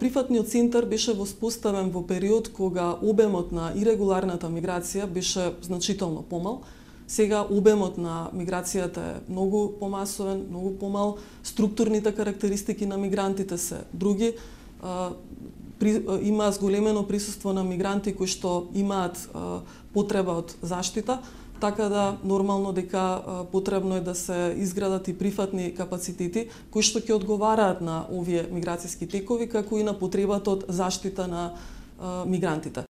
Прифатниот центар беше воспоставен во период кога обемот на ирегуларната миграција беше значително помал. Сега обемот на миграцијата е многу помасовен, многу помал, структурните карактеристики на мигрантите се други. Има зголемено присуство на мигранти кои што имаат потреба од заштита, така да нормално дека потребно е да се изградат и прифатни капацитети кои што ќе одговараат на овие миграцијски текови, како и на потребата од заштита на мигрантите.